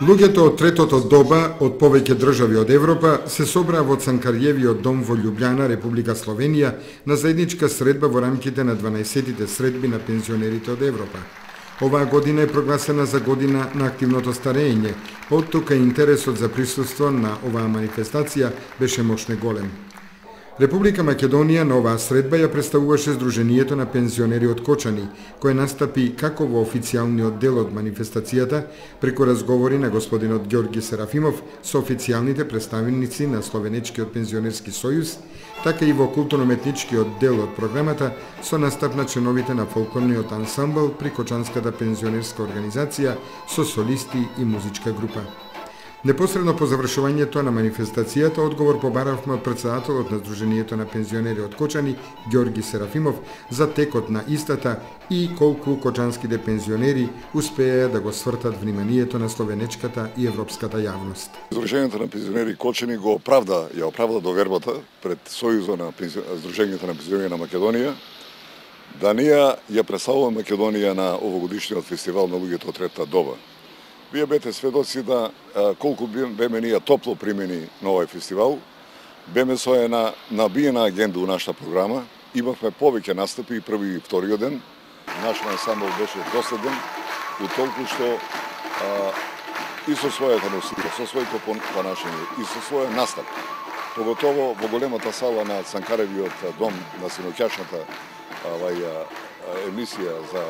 Луѓето од третото доба од повеќе држави од Европа се собраа во Цанкариевиот дом во Љубљана, Република Словенија, на заедничка средба во рамките на 12-тите средби на пензионерите од Европа. Оваа година е прогласена за година на активното старење, оттука интересот за присуство на оваа манифестација беше мощно голем. Република Македонија на оваа средба ја представуваше Сдруженијето на пензионери од Кочани, кое настапи како во официјалниот дел од манифестацијата, преку разговори на господинот Ѓорги Серафимов со официјалните представници на Словенечкиот пензионерски сојуз, така и во културно-уметничкиот дел од програмата со настап на членовите на фолклорниот ансамбл при Кочанската пензионерска организација со солисти и музичка група. Непосредно по завршувањето на манифестацијата, одговор побаравме од претседателот на Сдруженијето на пензионери од Кочани, Ѓорги Серафимов, за текот на истата и колку кочанските пензионери успеа да го свртат вниманието на словенечката и европската јавност. Сдруженијето на пензионери Кочани ја оправда довербата пред Сојузот на Сдруженијето на пензионери на Македонија, да ние ја представуваме Македонија на овогодишниот фестивал на луѓето од третата доба. Вие бете сведоци да колку беме ние топло примени на овој фестивал, беме со една набиена агенда у нашата програма, имавме повеќе настапи и први и вториот ден. Нашиот ансамбл беше доследен, у толку што и со својата носија, со своето понашање и со својот настап, поготово во големата сала на Цанкаревиот дом на синоќашната емисија за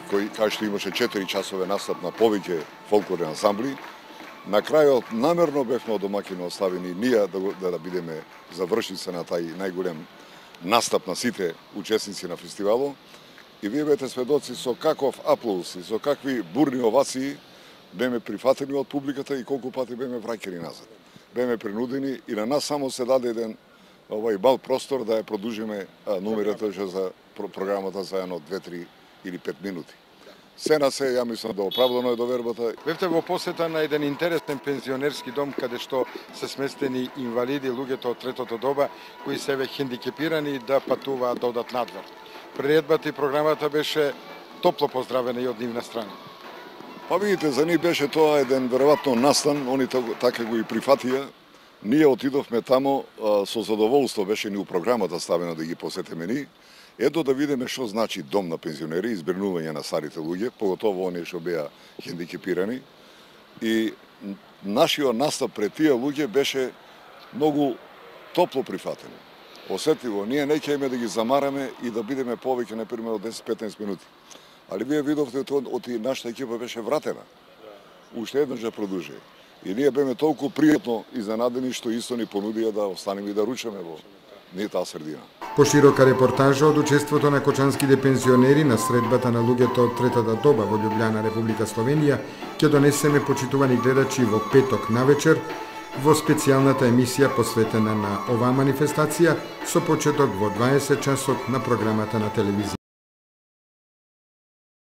кај што имаше 4 часове настап на повеќе фолклорни ансамбли. На крајот намерно бевме домаќини оставени ние да бидеме завршници на тај најголем настап на сите учесници на фестивалот. И вие бете сведоци со каков аплауз и со какви бурни овации беме прифатени од публиката и колку пати беме враќани назад. Беме принудени и на нас само се даде еден мал простор да ја продолжиме номерата за програмата за едно 2-3 или 5 минути. Се на се, ја мислам да оправдано е довербата. Бевте во посета на еден интересен пензионерски дом, каде што се сместени инвалиди, луѓето од третото доба, кои се ве хендикепирани да патуваат да одат надвор. Приредбата и програмата беше топло поздравена и од нивна страна. Па видите, за нив беше тоа еден веројатно настан, они така го и прифатија. Ние отидовме тамо со задоволство, беше ни у програмата ставено да ги посетиме ни. Ето да видиме што значи дом на пензионери, избринување на старите луѓе, поготово оние што беа хендикепирани. И нашиот настап пред тие луѓе беше многу топло прифатен. Осетливо, ние не ќе да ги замараме и да бидеме повеќе, например, од 10-15 минути. Али вие видовте од нашата екипа беше вратена. Уште еднаш да продолжи. И ние беме толку пријатно изненадени што исто ни понудија да останеме и да ручаме во таа средина. Поширока репортажа од учеството на кочанските пензионери на средбата на луѓето од третата доба во Љубљана, Република Словенија, ќе донесеме, почитувани гледачи, во петок навечер во специјалната емисија посветена на оваа манифестација со почеток во 20 часот на програмата на телевизија.